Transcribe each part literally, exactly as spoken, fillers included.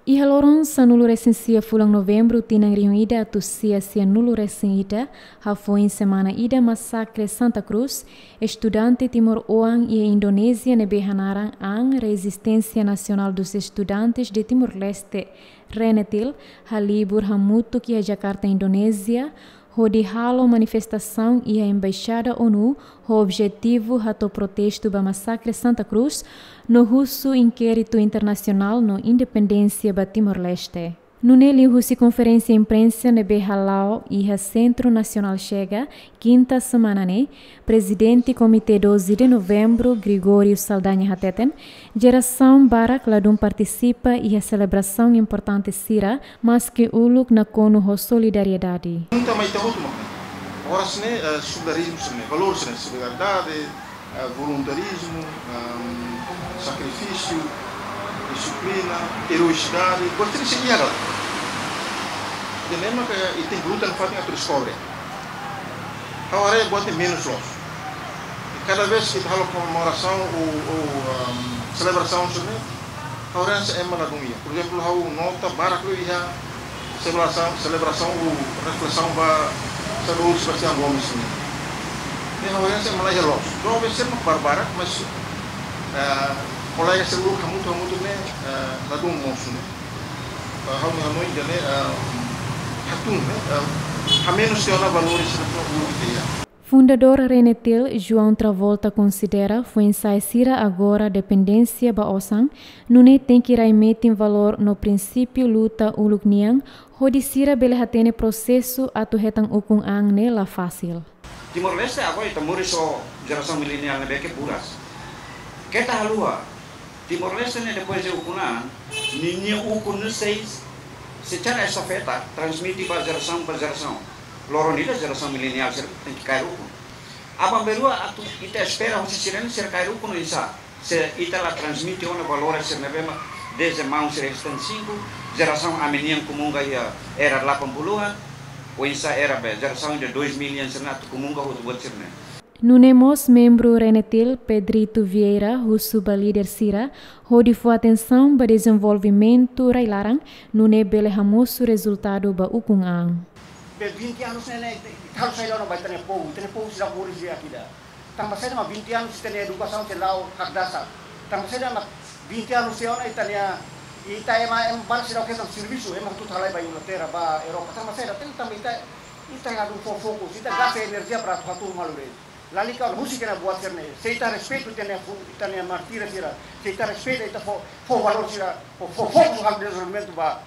Iha loron sanulu-resin-sia fulan Novembru tinan rihun ida atus sia sianulu-resin-ida, hafoin semana ida masakre Santa Cruz, estudante timoroan iha Indonézia ne'ebé hanaran an Resistência Nacional dos Estudantes de Timor-Leste, RENETIL, halibur hamutuk iha Jakarta, Indonézia, hodi halo manifestasaun iha Embaixada ONU ho objetivu hato'o protestu ba masakre Santa Cruz, no husu inkéritu internasionál no independénsia ba Timor-Leste. Nune'e liuhusi konferénsia imprensa ne'ebé hala'o iha Sentru Nasionál Chega, kinta semana ne'e, Prezidente Komité doze de Novembro, Gregório Saldanha hateten, jerasaun barak ladún partisipa iha selebrasaun importante sira, maske uluk nakonu ho solidariedade. Nunka mai tahu tu makna. Oras ne'e, eh, solidarizmu sira-ne'e, valór sira-ne'e, solidariedade, eh, voluntarizmu, ehm, sakrifísiu, dixiplina, eroisidade, buat sira-ne'e iha dala. Ida-ne'e mak ita-nia luta nafatin atu deskobre. Ha'u haree buat ne'e menus loos. I kada vez ita halo komemorasaun ou, ou, ehm, selebrasaun sira-ne'e, ha'u haree hanesan ema ladún iha. Por ezemplu, ha'u nota barak liu iha selebrasaun, selebrasaun ou reflesaun ba Saudozu Sebastião Gomes nian. Ne'e ha'u haree hanesan ema la iha loos. Joven sira mak barbarak, mas, eh, kolega sira uluk hamutuk, hamutuk ne'e, eh, ladún mosu ne'e. Eh, ha'u-nia hanoin ida-ne'e, eh, hatún ne'e, eh, hamenus tiha ona valores sira ne'ebé uluk ita iha. Fundadór RENETIL, João Travolta, konsidera foin-sa'e sira agora dependénsia ba osan, nune'e tenke rai metin valór no prinsípiu luta uluk nian, hodi sira bele hatene prosesu atu hetan ukun an ne'e la fasil. Timor-Leste agora ita moris ho jerasaun mileniál ne'ebé ke buras. Keta haluha, Timor-Leste ne'e depois de ukun an, ninia ukun ne'e sei, sei tara estafeta, transmite ba jerasaun ba jerasaun. Loron ida jerasaun mileniál sira tenke kaer ukun. Aban-bainrua atu ita espera husi sira-ne'e sira kaer ukun oinsá. Se ita la transmite ona valores sira ne'ebé mak dezde maun sira iha setenta e cinco, jerasaun ami-nian kumunga iha era delapan puluhan, oinsá era be, jerasaun ida dois mil nian sira-ne'e atu kumunga hotu buat sira-ne'e. Nune'e mós membru RENETIL, Pedrito Vieira, husu ba líder sira, hodi fó atensaun ba dezenvolvimentu rai-laran, nune'e bele hamosu rezultadu ba ukun an. Be vinte anos ne'e, ne'e, ita halo saida ona ba ita-nia povu, ita-nia povu seidauk moris di'ak ida. Tanba saida mak vinte anos ita-nia edukasaun sei la'o hakdasar. Tanba saida mak vinte anos tiha ona ita-nia, ita ema, ema barak seidauk hetan servisu, ema hotu halai ba Inglaterra, ba Europa. Tanba saida, tanba ita, ita ladún fó fokus, ita gasta enerjia para atu hatuur malu de'it. Lalika husik ona buat sira-ne'e. Se ita respeitu ita-nia fu-, ita-nia mártir sira. Se ita respeitu ita fó, fó valór sira, fó, fó fokus halo dezenvolvimentu ba,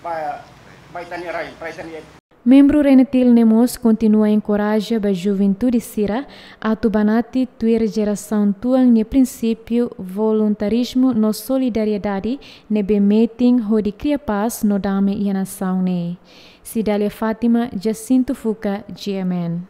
ba, ba ita-nia rai, ba ita-nia. Membru RENETIL ne'e mós kontinua enkoraja ba juventude sira atu banati tuir jerasaun tuan nia prinsípiu voluntarizmu no solidariedade ne'ebé metin hodi kria pás no dame iha nasaun ne'e. Cidália Fátima, Jacinto Fuca, G M N.